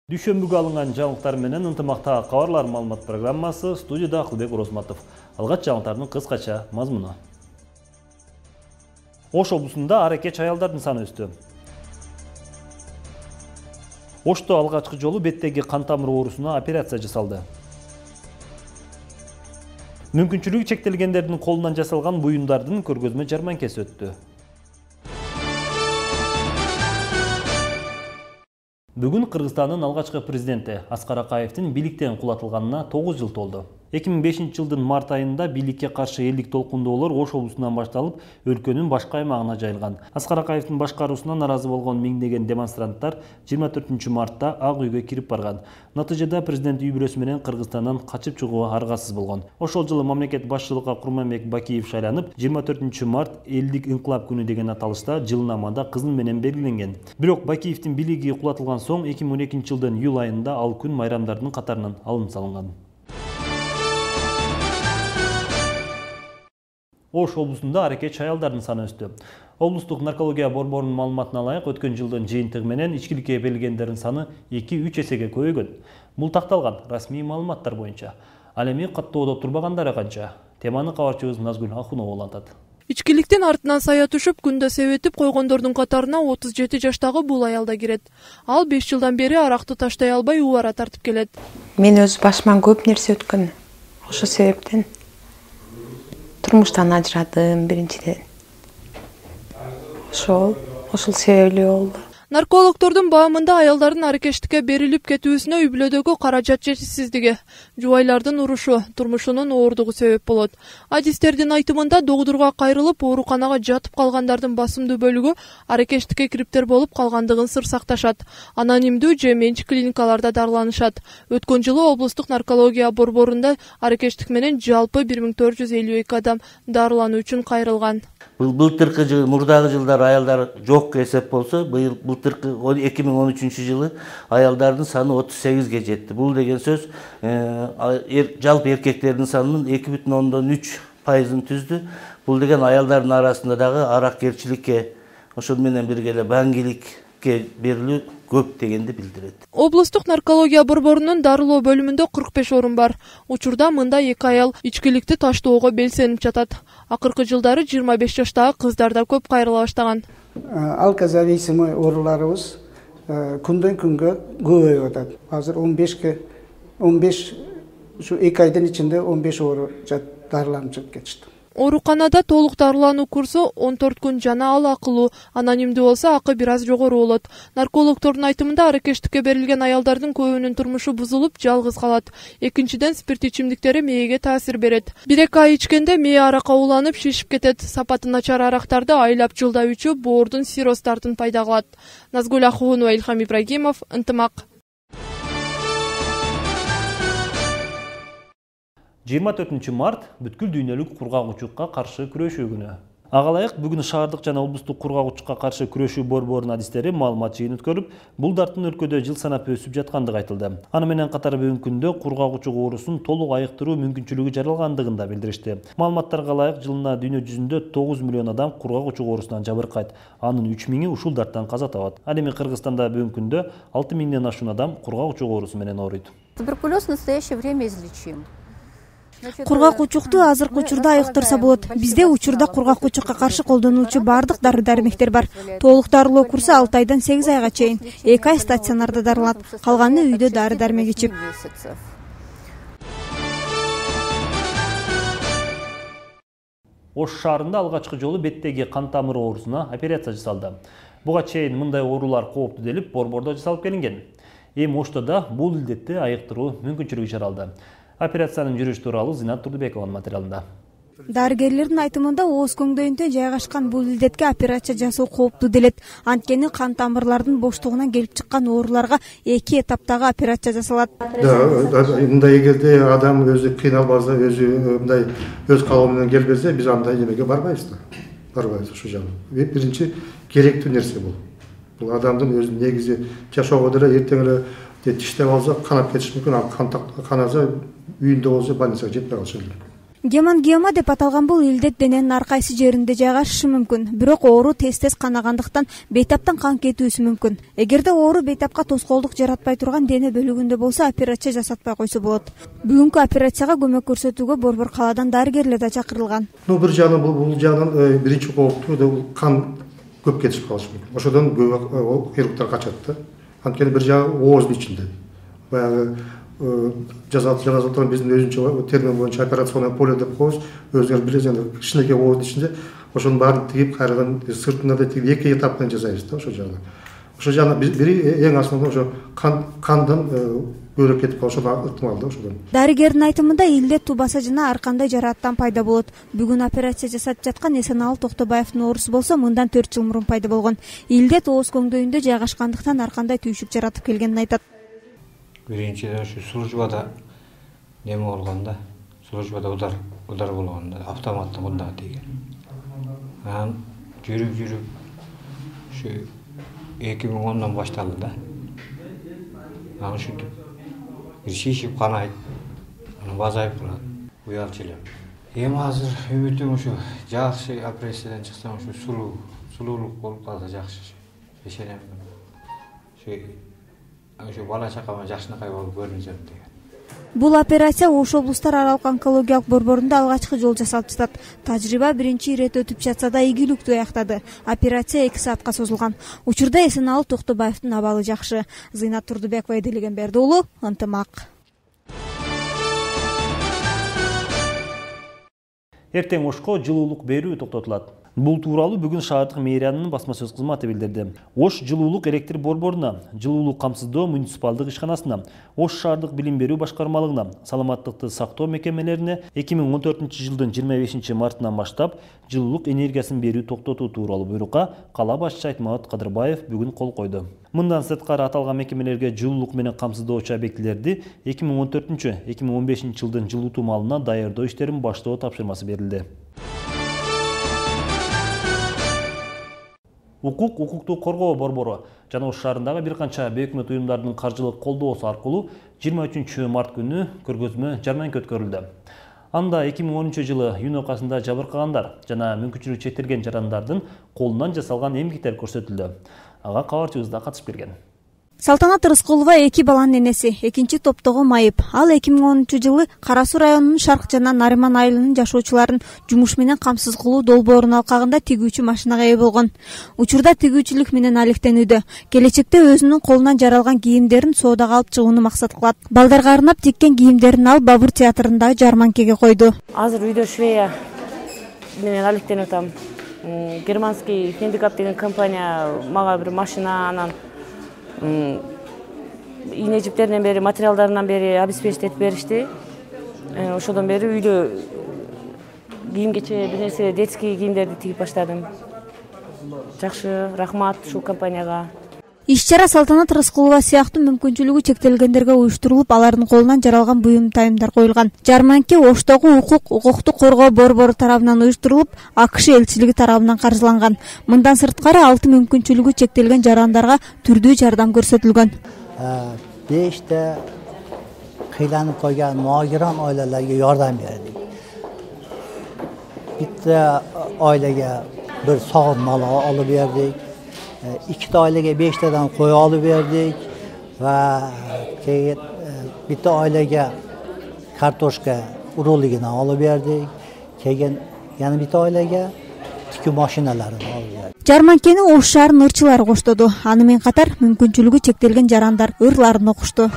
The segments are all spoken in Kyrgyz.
Дүйшөмбүгө алынган жаңылыктар менен ынтымактагы кабарлар маалымат программасы, студияда Акылбек Орозматов. Алгач жаңылыктардын кыскача мазмуну. Ош облусунда аракеч аялдардын саны өстү. Ошто алгачкы жолу беттеги кан тамыры оорусуна операция жасалды. Мүмкүнчүлүгү чектелгендердин колунан жасалган буюмдардын көргөзмө жарманкеси өттү. Бүгүн Кыргызстандын алгачкы президенти Аскар Акаевдин бийликтен кулатылганына 9 жыл толду. 2005 жылдын март айында бийликке каршы элдик толкундоолор Ош облусунан башталып, өлкөнүн башка аймагына жайылган. Аскар Акаевдин башкаруусуна наразы болгон миңдеген демонстранттар 24 мартта Ак үйгө кирип барган. Натыйжада президент үй бүлөсү менен Кыргызстандан качып чыгууга аргасыз болгон. Ошол жылы мамлекет башчылыкка Курманбек Бакиев шайланып, 24 март элдик инкылап күнү деген аталышта жылнамада кызыл менен белгиленген. Бирок Бакиевдин бийлиги кулатылган соң 2012 жылдын июль айында ал күн майрамдардын катарынан алынып салынган. Ош облусунда аракеч аялдардын саны өстү. Облустук наркология борборунун маалыматына ылайык, өткөн жылдын жыйынтыгы менен ичкиликке берилгендердин саны 2-3 эсеге көбөйгөн. Бул такталган расмий маалыматтар боюнча. Ал эми каттоодо турбагандар канча? Теманы кабарчыбыз Назгүл Ахунова улантат. Ичкиликтин артынан сая түшүп, күндө себетип койгондордун катарына 37 жаштагы бул аял да кирет. Ал 5 жылдан бери аракты таштай албай убара тартып келет. Мен өз башыман көп нерсе өткөн. Ошол себептен турмуштан ажырадым биринчиден. Ошол себептүү болду. Наркологдордун баамында аялдардын аракештикке берилип кетүүсүнө үй бүлөдөгү каражат жетишсиздиги, жубайлардын урушу, турмушунун ооругу себеп болот. Адистердин айтымында догдурга кайрылып, ооруканага жатып калгандардын басымдуу бөлүгү аракештикке кириптер болуп калгандыгын сыр сакташат. Анонимдүү же менчик клиникаларда дарыланышат. Өткөн жылы облустук наркология борборунда аракештик менен жалпы 1452 адам дарылануу үчүн кайрылган. Былтыркы жыл, мурдагы жылдар аялдар жок эсеп болсо, былтыркы 2013 жылы аялдардын саны 38ге жетти. Бул деген сөз жалпы эркектердин санынын 2,3% түздү. Бул деген аялдардын арасында дагы аракерчиликке, ошол менен бирге эле баңгиликке берилүү көп дегенди билдирет. Облустук наркология борборунун дарылоо бөлүмүндө 45 орун бар. Учурда мында 2 аял ичкиликти таштоого белсенип жатат. Акыркы жылдары 25 жаштагы кыздар да көп кайрыла баштаган. Алкозависимый ооруларыбыз күндөн күнгө көбөйүп атат. Азыр 15 ушу 2 айдын ичинде 15 оору дарыланып чыгып кетишти. Ооруканада толук дарылануу курсу 14 күн жана ал акылуу. Анонимдүү болсо акы бир аз жогору болот. Наркологдордун айтымында аракештикке берилген аялдардын көбүнүн турмушу бузулуп, жалгыз калат. Экинчиден, спирт ичимдиктери мээге таасир берет. 1-2 ай ичкенде мээ аракка уланып, шишип кетет. Сапаты начар арактарды айлап жылда ичүү боордун сирростарын пайда кылат. Назгүл Ахунова, Илхам Ибрагимов, Ынтымак. 24 март бүткүл дүйнөлүк кургак-учукка каршы күрөшүү күнү. Ага ылайык бүгүн шаардык жана облустук кургак-учукка каршы күрөшүү борборунун адистери маалымат жыйын өткөрүп, бул дарттын өлкөдө жыл санап өсүп жаткандыгы айтылды. Аны менен катар бүгүнкү күндө кургак-учук оорусун толук айыктыруу мүмкүнчүлүгү жаралгандыгын да билдиришти. Маалыматтарга ылайык, жылына дүйнө жүзүндө 9 миллион адам кургак-учук оорусунан жабыркайт. Анын 3.000-и ушул дарттан каза табат. Ал эми Кыргызстанда бүгүнкү күндө 6 миңден ашуун адам кургак-учук оорусу менен ооруйт. Туберкулез в настоящее время излечим. Кургак-учукту азыркы учурда айыктырса болот. Бизде учурда кургак-учукка каршы колдонулчу бардык дары-дармектер бар. Толук дарылоо курсу 6 айдан 8 айга чейин. 2 ай стационарда дарыланат, калганы үйдө дары-дармек ичип. Ош шаарында алгачкы жолу беттеги кан тамыры оорусуна операция жасалды. Буга чейин мындай оорулар кооптуу делип борбордо жасалып келинген. Эми Оштода бул илдетти айыктыруу мүмкүнчүлүгү жаралды. Операциянын жүрүшү тууралуу Зинат Турдубекованын материалында. Дарыгерлердин айтымында ооз көңдөйүндө жайгашкан бул илдетке операция жасоо кооптуу делет. Анткени кан тамырлардын боштугунан келип чыккан ооруларга 2 эtaптагы операция жасалат. Мындай эгерде адам өзү кыйналбаса, өзү мындай өз калоо менен келбесе, биз андай эмеге барбайбыз да. Барбайбыз ушул жагы. Биринчи керектүү нерсе бул. Бул адамдын өзү негизи жашоого деле эртең эле тиштеп алса канап кетиш мүмкүн. Каназа үйүндө болсо больницага жетпей калышы мүмкүн. Гемангиома деп аталган бул илдет дененин ар кайсы жеринде жайгашышы мүмкүн, бирок оору тез канагандыктан бейтаптан кан кетүүсү мүмкүн. Эгерде оору бейтапка тоскоолдук жаратпай турган дене бөлүгүндө болсо, операция жасатпай койсо болот. Бүгүнкү операцияга көмөк көрсөтүүгө Борбор калаадан дарыгерлер да чакырылган. Бир жагынан бул жагынан биринчи кооптуу кан көп кетишип калышы мүмкүн. Ошодон көп хирургдар качат да. Анткени бир жагы ооздун ичинде. Баягы жазылып биздин өзүнчө термин боюнча операционное поле деп коебуз. Өзүңөр билесиңер, кичинекей ооздун ичинде ошонун баарын тигип, кайрадан сыртына да тигип эки этаптан жасайбыз да ошол жагына. Ошол жагына бири эң асылы ошо кандан көбүрөөк кетип калышы ыктымал да ошодон. Дарыгердин айтымында илдет тубаса жана ар кандай жарааттан пайда болот. Бүгүн операция жасап жаткан Эсеналы Токтобаевдин оорусу болсо мындан 4 жыл мурун пайда болгон. Илдет ооз көңдөйүндө жайгашкандыктан ар кандай түйшүк жаратып келгенин айтат. Биринчиден ушу службада неме болгондо, службада удар болгондо автоматтык удар тийген. Анан жүрүп ушу 2010дон башталды да. Анан ушинтип бир шишип канайт, анан базайып калат, уялчу элем. Эми азыр үмүтүм ушу жакшы операциядан чыксам ушу сулуулук болуп калса жакшы. Ишенем. Ушу бала чакама жакшынакай болуп көрүнсөм деген. Бул операция Ош облустар аралык онкологиялык борборунда алгачкы жолу жасалып жатат. Тажрыйба биринчи ирет өтүп жатса да ийгиликтүү аяктады. Операция 2 саатка созулган. Учурда Эсеналы Токтобаевдин абалы жакшы. Зыйнат Турдубекова, Эделеген Берди уулу, Ынтымак. Эртең Ошко жылуулук берүү токтотулат. Бул тууралуу бүгүн шаардык мэриянын басма сөз кызматы билдирди. Ош жылуулук электр борборуна, жылуулук камсыздоо муниципалдык ишканасына, Ош шаардык билим берүү башкармалыгына, саламаттыкты сактоо мекемелерине 2014-жылдын 25 мартынан баштап жылуулук энергиясын берүү токтотуу тууралуу буйрукка кала башчысы Айтмамат Кадырбаев бүгүн кол койду. Мындан сырткары аталган мекемелерге жылуулук менен камсыздоочу объектилерди 2014-2015 жылдын жылытуу маалына даярдоо иштерин баштоо тапшырмасы берилди. Укуктук коргоо борбору жана Ош шаарындагы бир канча бейөкмөт уюмдардын каржылык колдоосу аркылуу 23 март күнү көргөзмө жарманка өткөрүлдү. Анда 2010-жылы июнь окасында жабыркагандар жана мүмкүнчүлүгү чектелген жарандардын колунан жасалган эмгектер көрсөтүлдү. Ага кабарчыбыз да катышып берген. Салтанат Рыскулова 2 баланын энеси, 2 топтогу майып. Ал 2010-жылы Кара Суу районунун Шарк жана Нариман айылынын жашоочуларын жумуш менен камсыз кылуу долбоорунун алкагында тигүүчү машинага ээ болгон. Учурда тигүүчүлүк менен алектенүүдө. Келечекте өзүнүн колунан жаралган кийимдерин соодага алып чыгууну максат кылат. Балдарга арнап тиккен кийимдерин алып Бабур театрындагы жарманкеге койду. Азыр үйдө швея менен алектенип атам. Германский Хендикап деген компания мага бир машина, анан ийне жиптеринен бери, материалдарынан бери обеспечить беришти. Ошодон бери үйдө кийим-кече, бир нерсе, детский кийимдерди тигип баштадым. Жакшы, рахмат ушул компанияга. Иш-чара Салтанат Рыскулова сыяктуу мүмкүнчүлүгү чектелгендерге уюштурулуп, алардын колунан жаралган буюм тайымдар коюлган. Жарманке Оштогу укуктук коргоо борбору тарабынан уюштурулуп, АКШ элчилиги тарабынан каржыланган. Мындан сырткары 6 мүмкүнчүлүгү чектелген жарандарга түрдүү жардам көрсөтүлгөн. 5 кыйланып койгон могирон oilalarga yordam berdik. Bitta oilaga bir sog'in mol olib berdik. 2 oilaga 5 tadan qo'y olib berdik va keyin bitta oilaga kartoshka urug'ligini olib berdik. Keyin yana bitta oilaga tikuv mashinalarini olib berdik. Жарманкени Ош шаарынын ырчылары коштоду. Аны менен катар мүмкүнчүлүгү чектелген жарандар ырларын окушту.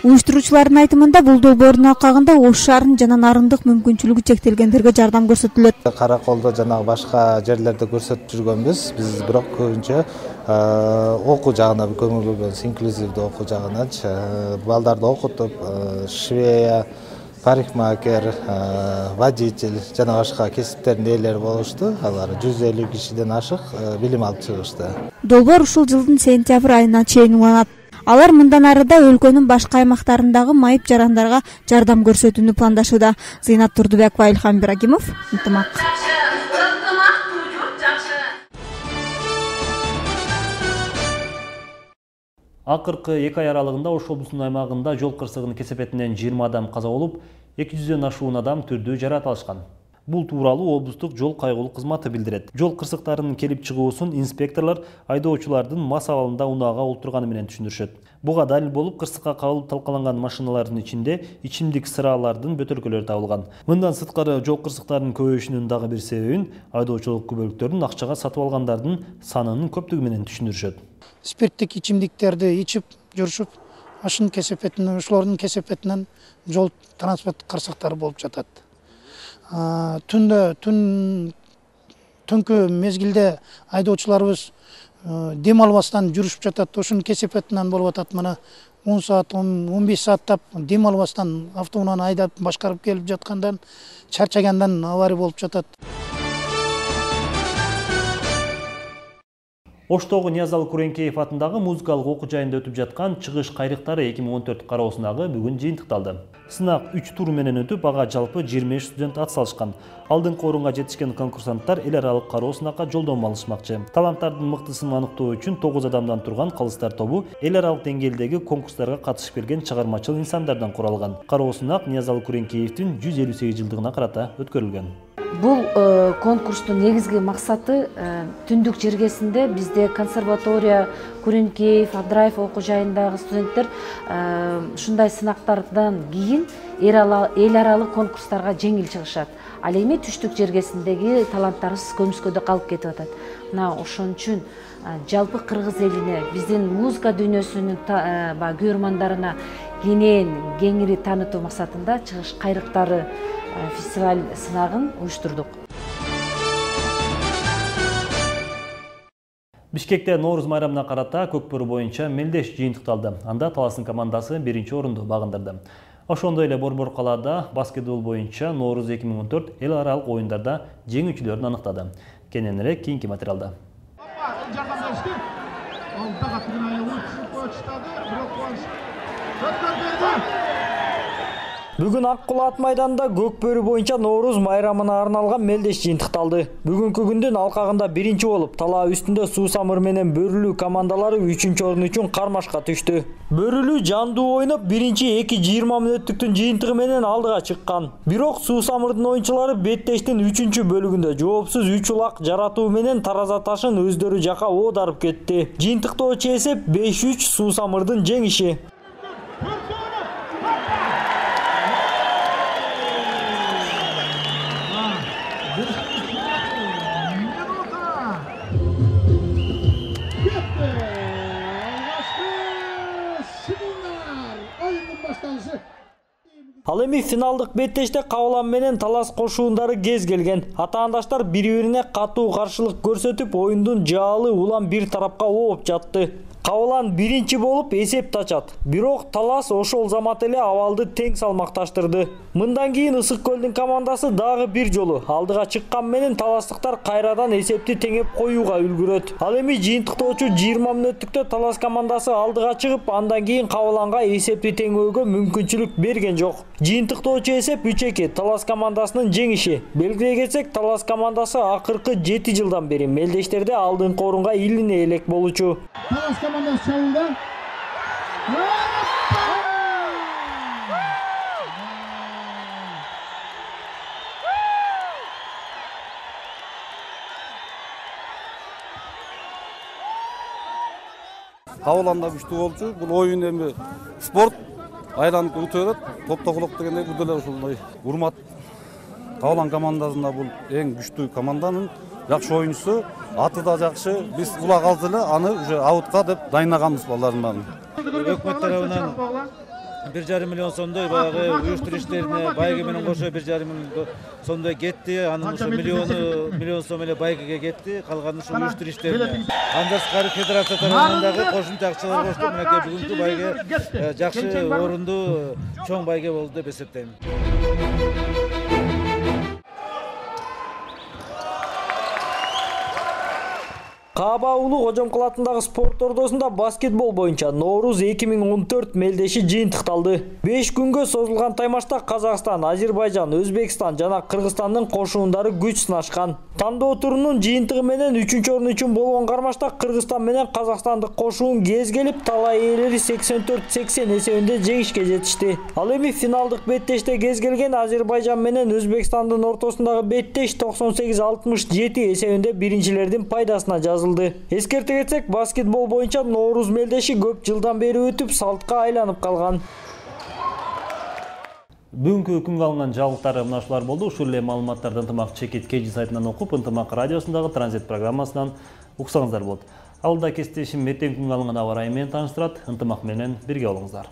Уюштуруучулардын айтымында бул долбоордун алкагында Ош шаарынын жана нарындык мүмкүнчүлүгү чектелгендерге жардам көрсөтүлөт. Караколдо жана башка жерлерде көрсөтүп жүргөнбүз. Биз бирок көбүнчө окуу жагына көңүл бөлгөнбүз, инклюзивдүү окуу жагына. Балдарды окутуп, швея, парикмахер, водитель жана башка кесиптердин ээлери болушту. Алар 150 кишиден ашык билим алып чыгышты. Долбоор ушул жылдын сентябрь айына чейин уланат. Алар мындан арыда өлкөнүн башка аймактарындагы майып жарандарга жардам көрсөтүүнү пландашууда. Зыйнат Турдубекова, Илхам Ибрагимов, Ынтымак. Акыркы 2 ай аралыгында Ош облусунун аймагында жол кырсыгынын кесепетинен 20 адам каза болуп, 200дөн ашуун адам түрдүү жаракат алышкан. Бул тууралуу облустук жол кайгылуу кызматы билдирет. Жол кырсыктарынын келип чыгуусун инспекторлор айдоочулардын мас абалында унаага олтурганы менен түшүндүрүшөт. Буга далил болуп, кырсыкка кабылып талкаланган машиналардын ичинде ичимдик сыралардын бөтөлкөлөрү табылган. Мындан сырткары жол кырсыктарынын көбөйүшүнүн дагы бир себебин айдоочулук күбөлүктөрдүн акчага сатып алгандардын санынын көптүгү менен түшүндүрүшөт. Спирттик ичимдиктерди ичип жүрүшүп, ашын кесепетинен, ошолордун кесепетинен жол транспорт кырсыктары болуп жатат. Түнкү мезгилде айдоочуларыбыз дем албастан жүрүшүп жатат. Ошонун кесепетинен болуп атат. Мына 10 саат, 15 сааттап дем албастан автоунааны айдап башкарып келип жаткандан, чарчагандан авария болуп жатат. Оштогу Ниязалы Куренкеев атындагы музыкалык окуу жайында өтүп жаткан чыгыш кайрыктары 2014 кароосундагы бүгүн жыйынтыкталды. Сынак 3 тур менен өтүп, ага жалпы 23 студент ат салышкан. Алдыңкы орунга жетишкен конкурсанттар эл аралык кароо сынакка жолдомо алышмакчы. Таланттардын мыктысын аныктоо үчүн 9 адамдан турган калыстар тобу эл аралык деңгээлдеги конкурстарга катышып келген чыгармачыл инсандардан куралган. Кароо сынак Ниязалы Куренкеевдин 158 жылдыгына карата өткөрүлгөн. Бул конкурстун негизги максаты түндүк жергесинде бизде консерватория, Куренкеев, Абдраев окуу жайындагы студенттер ушундай сынактардан кийин эл аралык конкурстарга жеңил чыгышат. Ал эми түштүк жергесиндеги таланттарыбыз көмүскөдө калып кетип атат. Мына ошон үчүн жалпы кыргыз элине, биздин музыка дүйнөсүнүн көрөрмандарына кеңири таанытуу максатында чыгыш кайрыктары фестиваль сынагын уюштурдук. Бишкекте Нооруз майрамына карата Көкбөрү боюнча мелдеш жыйынтыкталды. Анда Таластын командасы 1-орунду багындырды. Ошондой эле Борбор калаада баскетбол боюнча Нооруз 2014 эл аралык оюндарда жеңүүчүлөрүн аныктады. Кененирээк кийинки материалда. Бүгүн Ак Кулат майданында Көкбөрү боюнча Нооруз майрамына арналган мелдеш жыйынтыкталды. Бүгүнкү күндүн алкагында 1-болуп, талаа үстүндө Суу Самыр менен Бөрүлүү командалары 3-орун үчүн кармашка түштү. Бөрүлүү жандуу ойноп 1-2-20 мүнөттүктүн жыйынтыгы менен алдыга чыккан. Бирок Суу Самырдын оюнчулары беттештин 3-бөлүгүндө жоопсуз 3 улак жаратуу менен тараза ташын өздөрү жака оодарып кетти. Жыйынтыктоочу эсеп 5-3 Суу Самырдын жеңиши. Ал эми финалдык беттеште Кабылан менен Талас кошуундары кез келген. Атаандаштар бири-бирине катуу каршылык көрсөтүп, оюндун жаалы улам бир тарапка ооп жатты. Кабылан 1 болуп эсепти ачат. Бирок Талас ошол замат эле абалды тең салмакташтырды. Мындан кийин Ысык көлдүн командасы дагы бир жолу алдыга чыккан менен таластыктар кайрадан эсепти теңеп коюуга үлгүрөт. Ал эми жыйынтыктоочу 20 мүнөттүктө Талас командасы алдыга чыгып, андан кийин Кабыланга эсепти теңөөгө мүмкүнчүлүк берген жок. Жыйынтыктоочу эсеп 3-2 Талас командасынын жеңиши. Белгилей кетсек, Талас командасы акыркы 7 жылдан бери мелдештерде алдыңкы орунга илине элек болчу. Талас командасы чабууда. Кабыланда күчтүү болчу. Бул оюн эми спорт айланып өтөт. Топтогулук дегенде бул деле ушундай урмат. Кабылан командасында бул эң күчтүү команданын жакшы оюнчусу, аты да жакшы. Биз улак алды эле аны уже аутка деп дайынаганбыз балдардын баарын. Өкмөт тарабынан 1,5 миллион сомдой баягы уюштуруш иштерине байге менен кошо 1,5 миллион сомдой кетти. Анын ошо миллион сом эле байгеге кетти. Калганы ушул уюштуруш иштерине. Андан сырткары федерация тарабынан дагы кошумча акчалар коштук. Мынакей бүгүнкү байге жакшы орунду чоң байге болду деп эсептейм. Кааба Улуу Кожомкул атындагы спорт ордосунда баскетбол боюнча Ноорuz 2014 мелдеши жыйынтыкталды. 5 күнгө созулган таймашта Казакстан, Азербайжан, Өзбекстан жана Кыргызстандын кошуундары күч сынашкан. Тандоо турунун жыйынтыгы менен 3-орун үчүн болгон кармашта Кыргызстан менен Казакстандык кошуун кез келип талай ээлери 84-80 эсебинде жеңишке жетишти. Ал эми финалдык беттеште кез келген Азербайжан менен Өзбекстандын ортосундагы беттеш 98-67 эсебинде биринчилердин пайдасына жазылды. Эскерте кетсек, баскетбол боюнча Ноорuz мелдеши көп жылдан бери өтүп салтка айланып калган. Бүгүнкү күнгө алынган жаңылыктар мына ушулар болду. Ушул эле маалыматтарды Ынтымак Чекит KG сайтынан окуп, Ынтымак радиосундагы транзит программасынан уксаңыздар болот. Алда кесиптешим эртең күнгө алынган аба ырайы менен тааныштырат. Ынтымак менен бирге болуңуздар.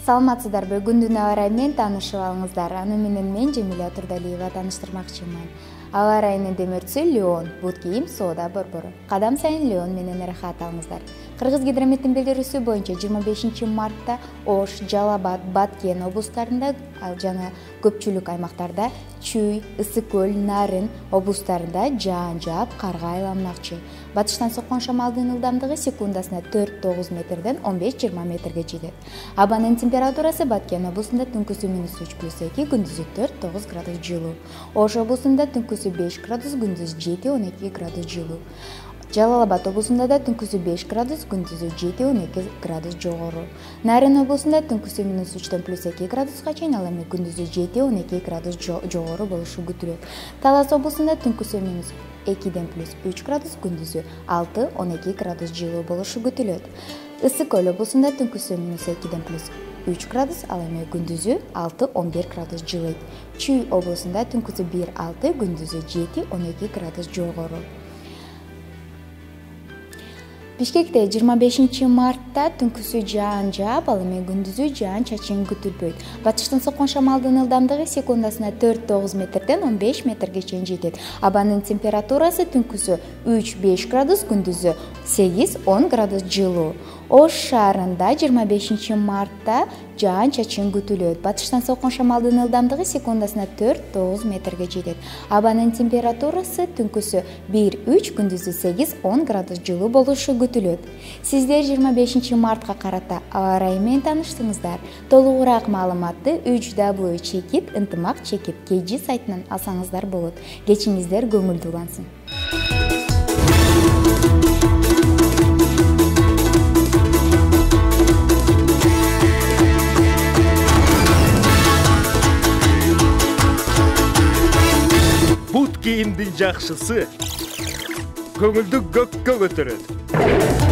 Саламатсыздарбы, күндүн аба ырайы менен таанышып алыңыздар. Аны менен мен Жемиле Турдалиева тааныштырмакчымын. Аба ырайынын демөртүсү Леон, бут кийим соода борбору. Кадам сайын Леон менен ырахат алыңыздар. Кыргыз гидрометтин билдирүүсү боюнча 25 мартта Ош, Жалал-Абад, Баткен облустарында жана көпчүлүк аймактарда Чүй, Ысык көл, Нарын облустарында жаан жаап карга айланмакчы. Батыштан соккон шамалдын ылдамдыгы секундасына 4-9 метрден 15-20 метрге жетет. Абанын температурасы Баткен облусунда түнкүсү -3+2, күндүзү 4-9 градус жылуу. Ош облусунда түнкүсү 5 градус, күндүзү 7-12 градус жылуу. Жалал-Абад облусунда да түнкүсү 5 градус, күндүзү 7-12 градус жогору. Нарын облусунда түнкүсү -3-төн +2 градуска чейин, ал эми күндүзү 7-12 градус жогору болушу күтүлөт. Талас облусунда түнкүсү -2-ден +3 градус, күндүзү 6-12 градус жылуу болушу күтүлөт. Ысык көл облусунда түнкүсү -2-ден +3 градус, ал эми күндүзү 6-11 градус жылыйт. Чүй облусунда түнкүсү 1-6, күндүзү 7-12 градус жогору. Бишкекте 25 мартта түнкүсү жаан жаап, ал эми күндүзү жаан чачын күтүлбөйт. Батыштан соккон шамалдын ылдамдыгы секундасына 4-9 метрден 15 метрге чейин жетет. Абанын температурасы түнкүсү 3-5 градус, күндүзү 8-10 градус жылуу. Ош шаарында 25 мартта жаан чачын күтүлөт. Батыштан соккон шамалдын ылдамдыгы секундасына 4-9 метрге жетет. Абанын температурасы түнкүсү 1-3, күндүзү 8-10 градус жылуу болушу күтүлөт. Сиздер 25 мартка карата аба ырайы менен тааныштыңыздар. Толугураак маалыматты Чекит Ынтымак Чекит KG сайтынан алсаңыздар болот. Кечиңиздер көңүлдүү улансын. Бут кийимдин жакшысы көңүлдү көккө көтөрөт.